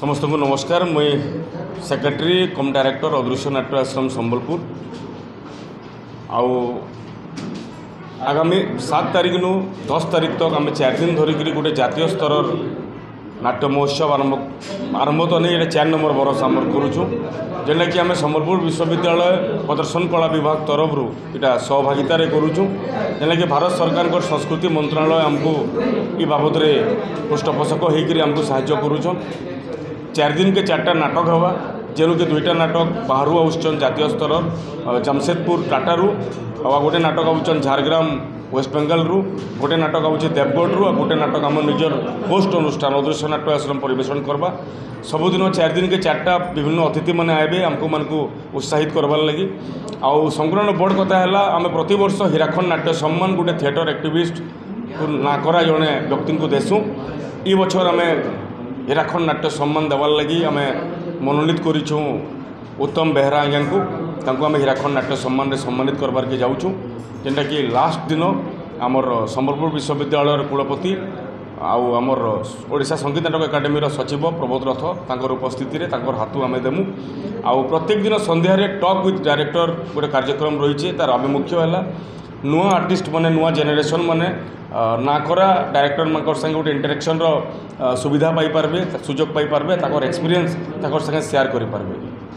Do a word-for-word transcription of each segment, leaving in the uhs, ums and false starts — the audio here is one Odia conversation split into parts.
ସମସ୍ତଙ୍କୁ ନମସ୍କାର। ମୁଇଁ ସେକ୍ରେଟାରୀ କମ୍ ଡାଇରେକ୍ଟର, ଅଦୃଶ୍ୟ ନାଟ୍ୟ ଆଶ୍ରମ, ସମ୍ବଲପୁର। ଆଉ ଆଗାମୀ ସାତ ତାରିଖନୁ ଦଶ ତାରିଖ ତକ ଆମେ ଚାରି ଦିନ ଧରିକିରି ଗୋଟେ ଜାତୀୟ ସ୍ତରର ନାଟ୍ୟ ମହୋତ୍ସବ ଆରମ୍ଭ, ଆରମ୍ଭ ତ ନେଇ, ଏଇଟା ଚାରି ନମ୍ବର ବରଷ ଆମର କରୁଛୁ, ଯେନ୍ଟାକି ଆମେ ସମ୍ବଲପୁର ବିଶ୍ୱବିଦ୍ୟାଳୟ ପ୍ରଦର୍ଶନ କଳା ବିଭାଗ ତରଫରୁ ଏଇଟା ସହଭାଗିତାରେ କରୁଛୁ, ଯେନ୍ଟାକି ଭାରତ ସରକାରଙ୍କର ସଂସ୍କୃତି ମନ୍ତ୍ରଣାଳୟ ଆମକୁ ଇ ବାବଦରେ ପୃଷ୍ଠପୋଷକ ହେଇକରି ଆମକୁ ସାହାଯ୍ୟ କରୁଛନ୍। ଚାରି ଦିନକେ ଚାରିଟା ନାଟକ ହେବା, ଯେନୁକି ଦୁଇଟା ନାଟକ ବାହାରୁ ଆସୁଛନ୍, ଜାତୀୟ ସ୍ତରର ଜାମସେଦପୁର ଟାଟାରୁ, ଆଉ ଗୋଟେ ନାଟକ ଆଉଛନ୍ ଝାରଗ୍ରାମ ୱେଷ୍ଟ ବେଙ୍ଗଲରୁ, ଗୋଟେ ନାଟକ ଆଉଛେ ଦେବଗଡ଼ରୁ, ଆଉ ଗୋଟେ ନାଟକ ଆମ ନିଜର ହୋଷ୍ଟ ଅନୁଷ୍ଠାନ ଅଦୃଶ୍ୟ ନାଟ୍ୟ ଆଶ୍ରମ ପରିବେଷଣ କରବା। ସବୁଦିନ ଚାରି ଦିନକେ ଚାରିଟା ବିଭିନ୍ନ ଅତିଥିମାନେ ଆଇବେ ଆମକୁ ମାନଙ୍କୁ ଉତ୍ସାହିତ କରବାର୍ ଲାଗି। ଆଉ ସଂକ୍ରମଣ ବଡ଼ କଥା ହେଲା, ଆମେ ପ୍ରତିବର୍ଷ ହୀରାଖଣ୍ଡ ନାଟ୍ୟ ସମ୍ମାନ ଗୋଟେ ଥିଏଟର ଆକ୍ଟିଭିଷ୍ଟ ନା କରା ଜଣେ ବ୍ୟକ୍ତିଙ୍କୁ ଦେସୁଁ। ଇ ବଛର ଆମେ ହୀରାଖଣ୍ଡ ନାଟ୍ୟ ସମ୍ମାନ ଦେବାର୍ ଲାଗି ଆମେ ମନୋନୀତ କରିଛୁଁ ଉତ୍ତମ ବେହେରା ଆଜ୍ଞାଙ୍କୁ। ତାଙ୍କୁ ଆମେ ହୀରାଖଣ୍ଡ ନାଟ୍ୟ ସମ୍ମାନରେ ସମ୍ମାନିତ କରବାର୍କେ ଯାଉଛୁଁ, ଯେନ୍ଟାକି ଲାଷ୍ଟ ଦିନ ଆମର ସମ୍ବଲପୁର ବିଶ୍ୱବିଦ୍ୟାଳୟର କୁଳପତି ଆଉ ଆମର ଓଡ଼ିଶା ସଙ୍ଗୀତ ନାଟକ ଏକାଡେମୀର ସଚିବ ପ୍ରବୋଧ ରଥ, ତାଙ୍କର ଉପସ୍ଥିତିରେ ତାଙ୍କର ହାତୁ ଆମେ ଦେମୁ। ଆଉ ପ୍ରତ୍ୟେକ ଦିନ ସନ୍ଧ୍ୟାରେ ଟକ୍ ୱିଥ୍ ଡାଇରେକ୍ଟର ଗୋଟେ କାର୍ଯ୍ୟକ୍ରମ ରହିଛି। ତାର ଆଭିମୁଖ୍ୟ ହେଲା ନୂଆ ଆର୍ଟିଷ୍ଟ ମାନେ, ନୂଆ ଜେନେରେସନ୍ ମାନେ ନା କରା ଡାଇରେକ୍ଟରମାନଙ୍କର ସାଙ୍ଗେ ଗୋଟେ ଇଣ୍ଟରାକ୍ସନ୍ର ସୁବିଧା ପାଇପାରିବେ, ସୁଯୋଗ ପାଇପାରିବେ, ତାଙ୍କର ଏକ୍ସପିରିଏନ୍ସ ତାଙ୍କର ସାଙ୍ଗେ ସେୟାର କରିପାରିବେ।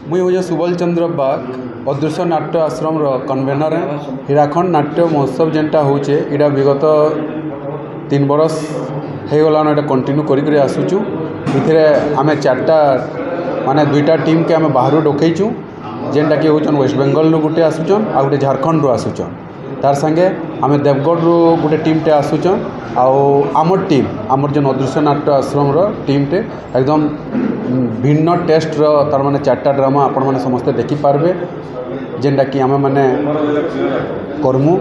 ମୁଇଁ ହେଉଛେ ସୁବଲ ଚନ୍ଦ୍ର ବାଗ, ଅଦୃଶ୍ୟ ନାଟ୍ୟ ଆଶ୍ରମର କନଭେନର। ହୀରାଖଣ୍ଡ ନାଟ୍ୟ ମହୋତ୍ସବ ଯେନ୍ଟା ହଉଛେ, ଇଟା ବିଗତ ତିନି ବରଷ ହେଇଗଲାନ, ଏଇଟା କଣ୍ଟିନ୍ୟୁ କରିକରି ଆସୁଛୁ। ଏଥିରେ ଆମେ ଚାରିଟା, ମାନେ ଦୁଇଟା ଟିମ୍କେ ଆମେ ବାହାରୁ ଡକେଇଛୁ, ଯେନ୍ଟାକି ହେଉଛନ୍ ୱେଷ୍ଟ ବେଙ୍ଗଲରୁ ଗୋଟେ ଆସୁଛନ୍ ଆଉ ଗୋଟେ ଝାଡ଼ଖଣ୍ଡରୁ ଆସୁଛନ୍। ତାର୍ ସାଙ୍ଗେ ଆମେ ଦେବଗଡ଼ରୁ ଗୋଟେ ଟିମ୍ଟେ ଆସୁଛନ୍। ଆଉ ଆମର୍ ଟିମ୍, ଆମର୍ ଯେନ୍ ଅଦୃଶ୍ୟ ନାଟ୍ୟ ଆଶ୍ରମର ଟିମ୍ଟେ ଏକଦମ୍ ଭିନ୍ନ ଟେଷ୍ଟର, ତାର୍ ମାନେ ଚାରିଟା ଡ୍ରାମା ଆପଣମାନେ ସମସ୍ତେ ଦେଖିପାରିବେ, ଯେନ୍ଟାକି ଆମେମାନେ କର୍ମୁ।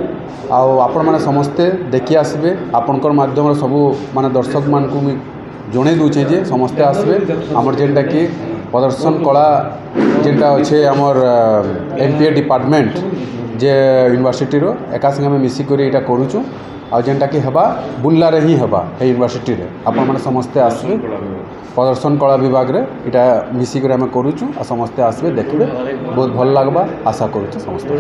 ଆଉ ଆପଣମାନେ ସମସ୍ତେ ଦେଖି ଆସିବେ। ଆପଣଙ୍କର ମାଧ୍ୟମରେ ସବୁ ମାନେ ଦର୍ଶକମାନଙ୍କୁ ମୁଇଁ ଜଣେଇ ଦେଉଛେ ଯେ ସମସ୍ତେ ଆସିବେ। ଆମର ଯେନ୍ଟାକି ପ୍ରଦର୍ଶନ କଳା ଯେନ୍ଟା ଅଛେ, ଆମର୍ ଏମ୍ ପି ଏ ଡିପାର୍ଟମେଣ୍ଟ ଯେ ୟୁନିଭର୍ସିଟିର ଏକା ସାଙ୍ଗେ ଆମେ ମିଶିକରି ଏଇଟା କରୁଛୁ। ଆଉ ଯେନ୍ଟାକି ହେବା, ବୁର୍ଲାରେ ହିଁ ହେବା, ଏଇ ୟୁନିଭର୍ସିଟିରେ। ଆପଣମାନେ ସମସ୍ତେ ଆସିବେ। ପ୍ରଦର୍ଶନ କଳା ବିଭାଗରେ ଏଇଟା ମିଶିକରି ଆମେ କରୁଛୁ। ଆଉ ସମସ୍ତେ ଆସିବେ, ଦେଖିବେ, ବହୁତ ଭଲ ଲାଗ୍ବା, ଆଶା କରୁଛୁ ସମସ୍ତଙ୍କୁ।